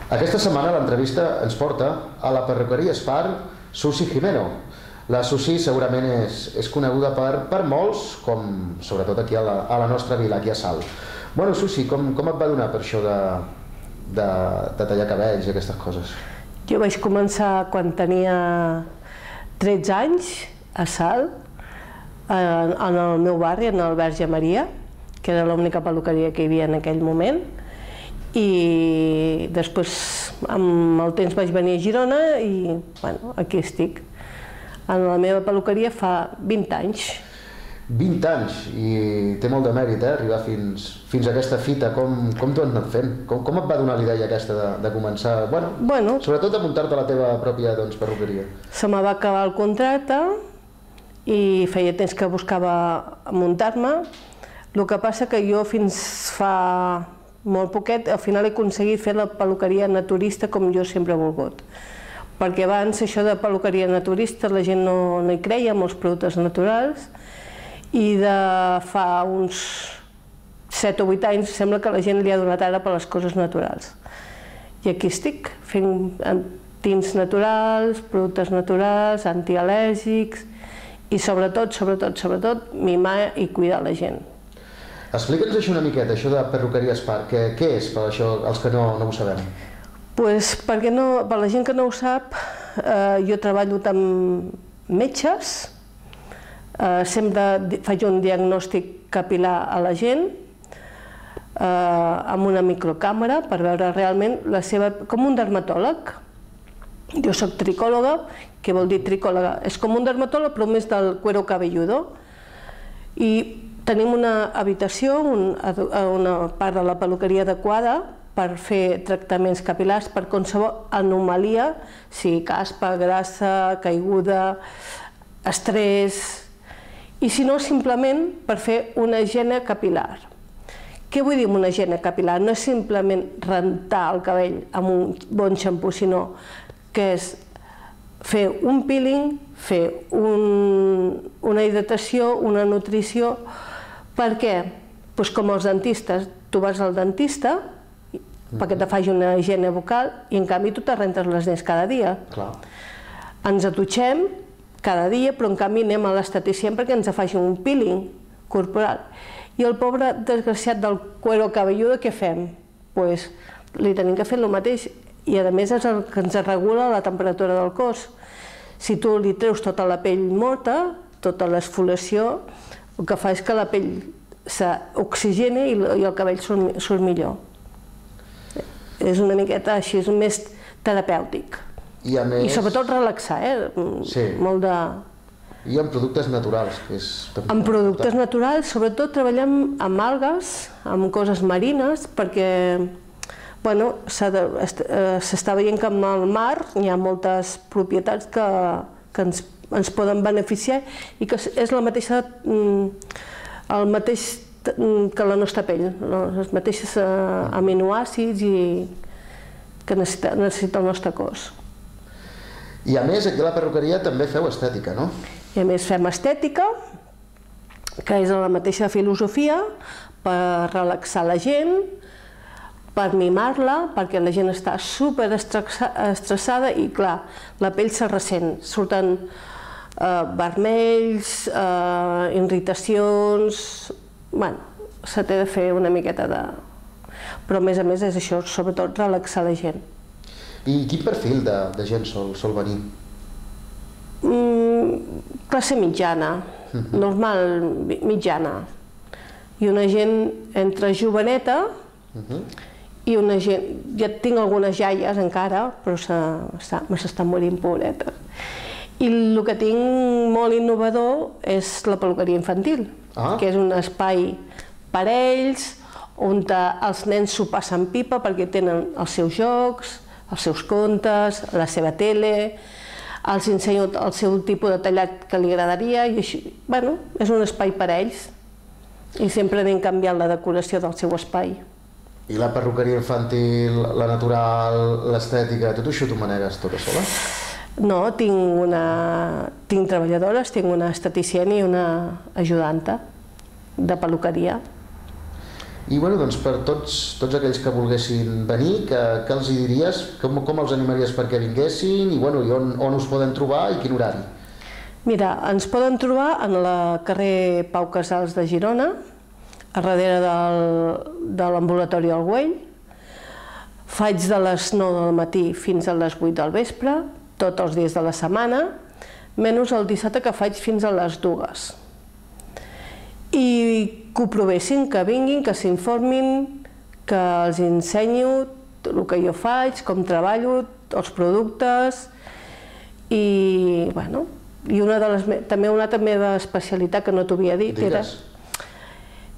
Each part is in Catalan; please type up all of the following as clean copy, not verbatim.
Aquesta setmana l'entrevista ens porta a la perruqueria Spar Susi Jimeno. La Susi segurament és coneguda per molts, com sobretot aquí a la nostra vila, aquí a Salt. Bueno, Susi, com et va donar per això de tallar cabells i aquestes coses? Jo vaig començar quan tenia 13 anys a Salt, en el meu barri, en el Verge Maria, que era l'única perruqueria que hi havia en aquell moment, i després amb el temps vaig venir a Girona i bueno, aquí estic. En la meva perruqueria fa 20 anys. 20 anys, i té molt de mèrit arribar fins a aquesta fita. Com t'ho has anat fent? Com et va donar la idea aquesta de començar, bueno, sobretot de muntar-te la teva pròpia perruqueria? Se me va acabar el contracte i feia temps que buscava muntar-me. El que passa que jo fins fa molt poquet, al final he aconseguit fer la perruqueria naturista com jo sempre he volgut. Perquè abans això de perruqueria naturista la gent no hi creia, amb els productes naturals, i de fa uns 7 o 8 anys sembla que la gent li ha donat ara per les coses naturals. I aquí estic, fent tints naturals, productes naturals, antial·lèrgics i sobretot, mimar i cuidar la gent. Explica'ns això una miqueta, això de perruqueria Spar. Què és, per això, els que no ho sabem? Doncs per la gent que no ho sap, jo treballo amb metges, sempre faig un diagnòstic capil·lar a la gent, amb una microcàmera per veure realment la seva... com un dermatòleg. Jo soc tricòloga, què vol dir tricòloga? És com un dermatòleg però més del cuero cabelludo. I tenim una habitació, una part de la perruqueria adequada per fer tractaments capil·lars per qualsevol anomalia, sigui caspa, grassa, caiguda, estrès, i si no, simplement per fer una higiene capil·lar. Què vull dir amb una higiene capil·lar? No és simplement rentar el cabell amb un bon xampú, sinó que és fer un peeling, fer una hidratació, una nutrició. Per què? Doncs com els dentistes, tu vas al dentista perquè te faci una higiene bucal i en canvi tu te rentes les dents cada dia. Ens dutxem cada dia, però en canvi anem a l'esteticient perquè ens faci un peeling corporal. I el pobre desgraciat del cuero cabelludo, què fem? Doncs li tenim que fer el mateix i a més és el que ens regula la temperatura del cos. Si tu li treus tota la pell morta, tota l'esfoliació, el que fa és que la pell s'oxigeni i el cabell surt millor. És una miqueta així, és més terapèutic. I sobretot relaxar, molt de... I amb productes naturals. Amb productes naturals, sobretot treballem amb algues, amb coses marines, perquè s'està veient que amb el mar hi ha moltes propietats que ens poden beneficiar i que és el mateix que la nostra pell, els mateixos aminoàcids que necessita el nostre cos. I a més, aquí a la perruqueria també feu estètica, no? I a més fem estètica, que és la mateixa filosofia, per relaxar la gent, per mimar-la, perquè la gent està super estressada i, clar, la pell se ressent. Surten vermells, irritacions... Bueno, se té de fer una miqueta de... Però a més és això, sobretot relaxar la gent. I quin perfil de gent sol venir? Classe mitjana, normal, mitjana. I una gent entre joveneta i una gent... Ja tinc algunes iaies encara, però s'estan morint pobretes. I el que tinc molt innovador és la perruqueria infantil, que és un espai per a ells, on els nens s'ho passen pipa perquè tenen els seus jocs, els seus contes, la seva tele, els ensenyo el seu tipus de tallat que li agradaria i així, bueno, és un espai per a ells i sempre anem canviant la decoració del seu espai. I la perruqueria infantil, la natural, l'estètica, tot això t'ho manegues tota sola? No, tinc treballadores, tinc una esteticient i una ajudanta de perruqueria. I bueno, doncs per tots aquells que volguessin venir, què els hi diries? Com els animaries perquè vinguessin i on us poden trobar i quin horari? Mira, ens poden trobar en el carrer Pau Casals de Girona, a darrere de l'ambulatori del Güell. Faig de les 9 del matí fins a les 8 del vespre, tots els dies de la setmana, menys el dissabte que faig fins a les 2. I que ho provessin, que vinguin, que s'informin, que els ensenyo el que jo faig, com treballo, els productes i, bueno, i també una altra meva especialitat que no t'ho havia dit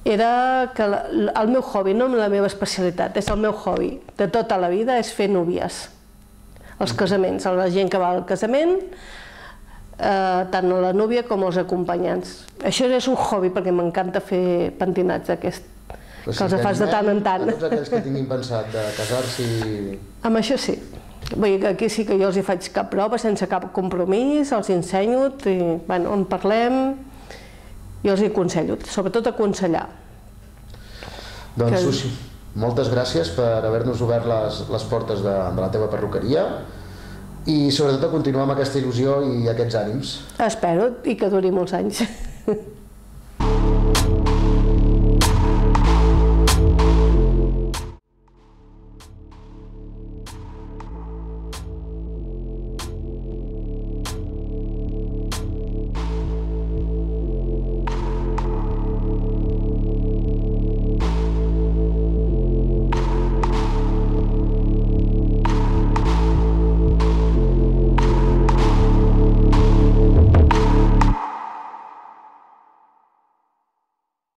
era que el meu hobby, no la meva especialitat, és el meu hobby de tota la vida, és fer núvies, els casaments, la gent que va al casament, tant la núvia com els acompanyants. Això és un hobby perquè m'encanta fer pentinats d'aquest, que els fas de tant en tant. A tots aquells que tinguin pensat de casar-s'hi... Amb això sí. Vull dir que aquí sí que jo els hi faig cap prova, sense cap compromís, els ensenyo, en parlem, i els hi aconsello, sobretot aconsellar. Doncs, Susi, moltes gràcies per haver-nos obert les portes de la teva perruqueria i sobretot a continuar amb aquesta il·lusió i aquests ànims. Espero, i que duri molts anys.